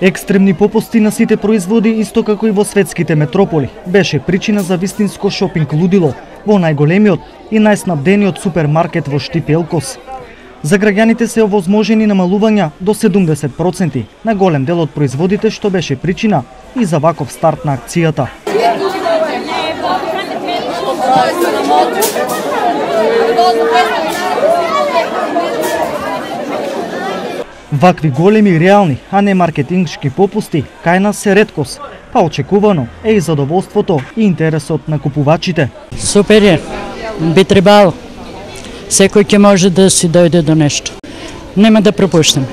Екстремни попусти на сите производи, исто како и во светските метрополи, беше причина за вистинско шопинг лудило во најголемиот и најснабдениот супермаркет во Штип Елкос. За граѓаните се овозможени намалувања до 70% на голем дел од производите, што беше причина и за ваков старт на акцијата. Вакви големи реални, а не маркетингшки попусти кај нас се реткост, па очекувано е и задоволството и интересот на купувачите. Супер е, би требало. Секој ќе може да си дојде до нешто. Нема да пропуштам.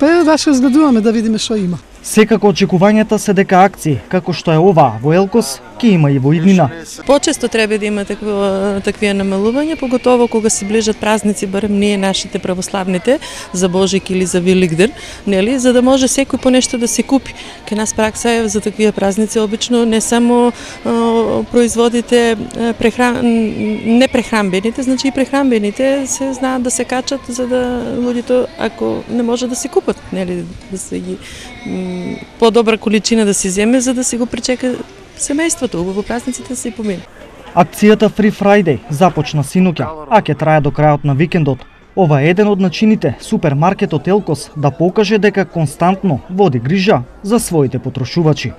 Па баш разгледуваме да видиме што има. Секако очекувањата се дека акции, како што е оваа во Елкос, ќе има и во иднина. Почесто треба да има такви намалувања, поготово кога се ближат празници, барем ние нашите православните, за Божик или за Великден, нели, за да може секој по нешто да се купи. Кај нас пракса е за такви празници обично не само производите непрехранбените, значи и прехранбените се знаат да се качат за да луѓето ако не може да се купат, нели, да се ги подобра количина да се земе за да се го причека семејството, убаво празниците да се помине. Акцијата Free Friday започна синоќа, а ќе трае до крајот на викендот. Ова е еден од начините супермаркетот Елкос да покаже дека константно води грижа за своите потрошувачи.